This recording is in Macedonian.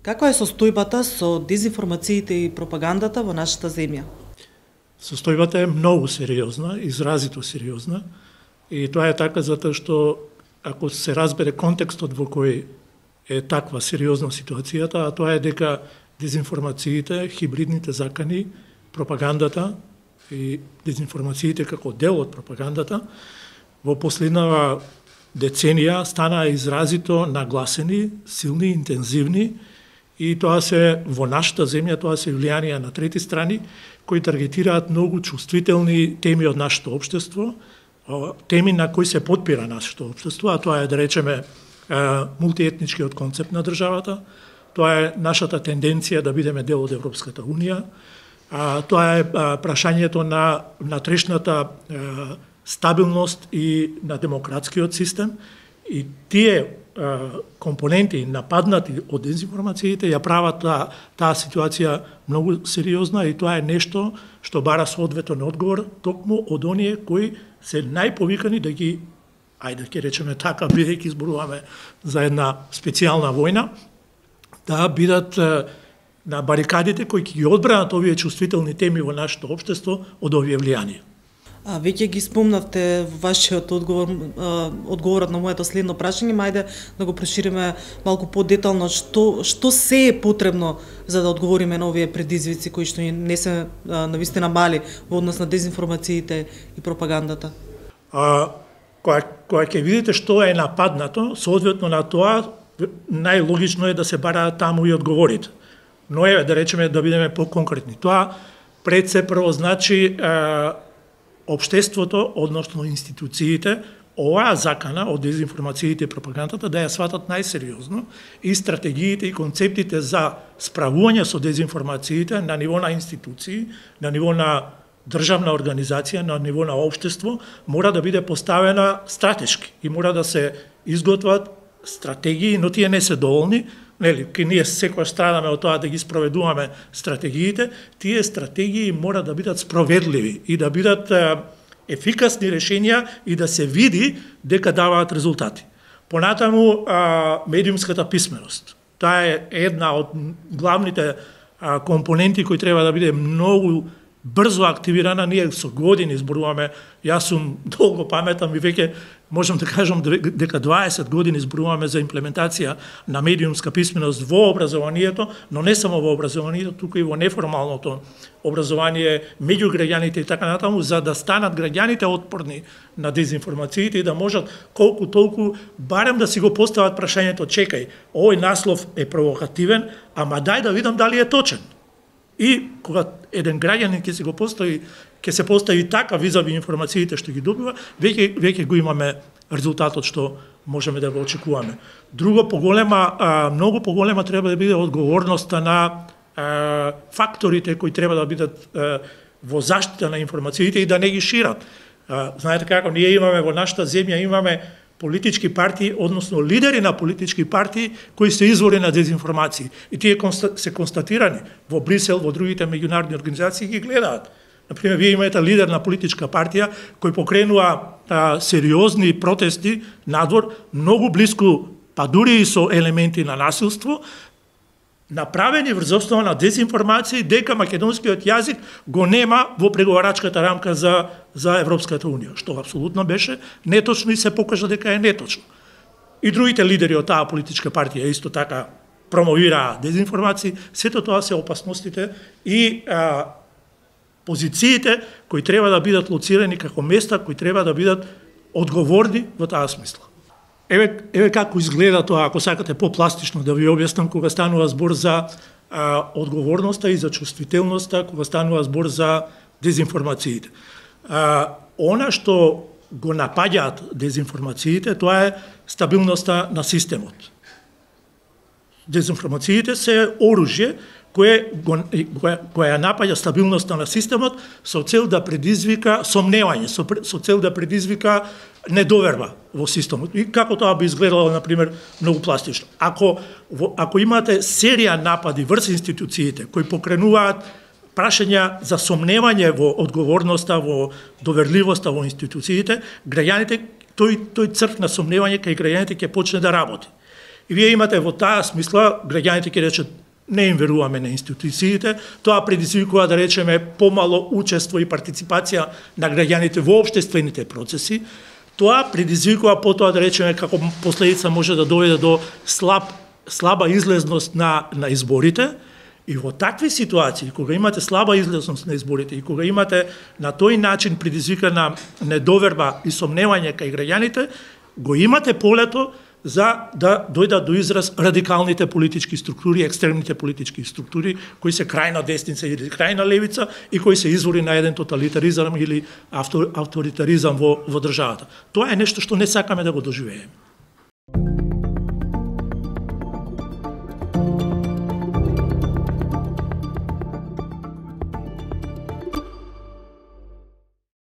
Каква е состојбата со дезинформациите и пропагандата во нашата земја? Состојбата е многу сериозна, изразито сериозна, и тоа е така затоа што ако се разбере контекстот во кој е таква сериозна ситуацијата, а тоа е дека дезинформациите, хибридните закани, пропагандата и дезинформациите како дел од пропагандата во последнава деценија станаа изразито нагласени, силни, интензивни, и тоа се во нашата земја, тоа се влијанија на трети страни кои таргетираат многу чувствителни теми од нашето општество, теми на кои се потпира нашето општество, а тоа е, да речеме, мултиетничкиот концепт на државата, тоа е нашата тенденција да бидеме дел од Европската Унија, тоа е прашањето на внатрешната стабилност и на демократскиот систем, и тие компоненти нападнати од дезинформациите ја прават таа ситуација многу сериозна, и тоа е нешто што бара соодветен одговор токму од оние кои се најповикани да ги, ајде ќе речеме така, бидејќи зборуваме за една специјална војна, да бидат на барикадите кои ќе ги одбранат овие чувствителни теми во нашето општество од овие влијанија. Веќе ги спомнавте во вашиот одговорот на моето следно прашање, мајде да го прошириме малку подетално што се е потребно за да одговориме на овие предизвици кои што не се навистина мали во однос на дезинформациите и пропагандата. Кога ќе видите што е нападнато, соодветно на тоа најлогично е да се бараат таму и одговорите. Но е, да речеме, да бидеме поконкретни. Тоа пред се прво значи општеството, односно институциите, оваа закана од дезинформациите и пропагандата да ја сватат најсериозно, и стратегиите и концептите за справување со дезинформациите на ниво на институции, на ниво на државна организација, на ниво на општество, мора да биде поставена стратешки и мора да се изготват стратегии, но тие не се доволни. Ке ние секојаш страдаме од тоа да ги спроведуваме стратегиите, тие стратегии мора да бидат спроведливи и да бидат ефикасни решенија и да се види дека даваат резултати. Понатаму, медиумската писменост. Таа е една од главните компоненти кои треба да биде многу брзо активирана. Ние со години зборуваме, јас сум долго паметам и веќе можам да кажам дека 20 години зборуваме за имплементација на медиумска писменост во образованието, но не само во образованието, туку и во неформалното образование меѓу граѓаните и така натаму, за да станат граѓаните отпорни на дезинформациите и да можат колку толку барем да си го постават прашањето: чекај, овој наслов е провокативен, ама дај да видам дали е точен. И кога еден граѓанин ќе се постави така визави информациите што ги добива, веќе го имаме резултатот што можеме да го очекуваме. Друго многу поголема треба да биде одговорноста на факторите кои треба да бидат во заштита на информациите и да не ги шират. Знаете како, ние имаме во нашата земја имаме политички партии, односно лидери на политички партии кои се извори на дезинформации. И тие се констатирани во Брисел, во другите меѓународни организации ги гледаат. Например, вие имате лидер на политичка партија кој покренува сериозни протести надвор, многу близко, па дури и со елементи на насилство, направени врз основа на дезинформации дека македонскиот јазик го нема во преговарачката рамка за Европската Унија, што апсолутно беше неточно и се покажа дека е неточно. И другите лидери од таа политичка партија исто така промовираа дезинформации. Сето тоа се опасностите и позициите кои треба да бидат лоцирани како места кои треба да бидат одговорни во таа смисла. Еве како изгледа тоа, ако сакате попластично да ви објаснам, кога станува збор за одговорноста и за чувствителноста, кога станува збор за дезинформациите. Она што го напаѓаат дезинформациите, тоа е стабилноста на системот. Дезинформациите се оружје кое ја напаѓа стабилноста на системот со цел да предизвика сомневање, со цел да предизвика недоверба во системот. И како тоа би изгледало, например, многу пластично. Ако имате серија напади врз институциите кои покренуваат прашања за сомневање во одговорноста, во доверливоста во институциите, граѓаните, тој црв на сомневање кај граѓаните ќе почне да работи. И вие имате во таа смисла, граѓаните ќе речат, не им веруваме на институциите, тоа предизвикува, да речеме, помало учество и партиципација на граѓаните во општествените процеси. Тоа предизвикува потоа, да речеме, како последица може да доведе до слаба излезност на изборите. И во такви ситуации, кога имате слаба излезност на изборите и кога имате на тој начин предизвикана недоверба и сомневање кај граѓаните, го имате полето за да дојдат до израз радикалните политички структури, екстремните политички структури, кои се крајна десница или крајна левица и кои се извори на еден тоталитаризам или авторитаризам во државата. Тоа е нешто што не сакаме да го доживееме.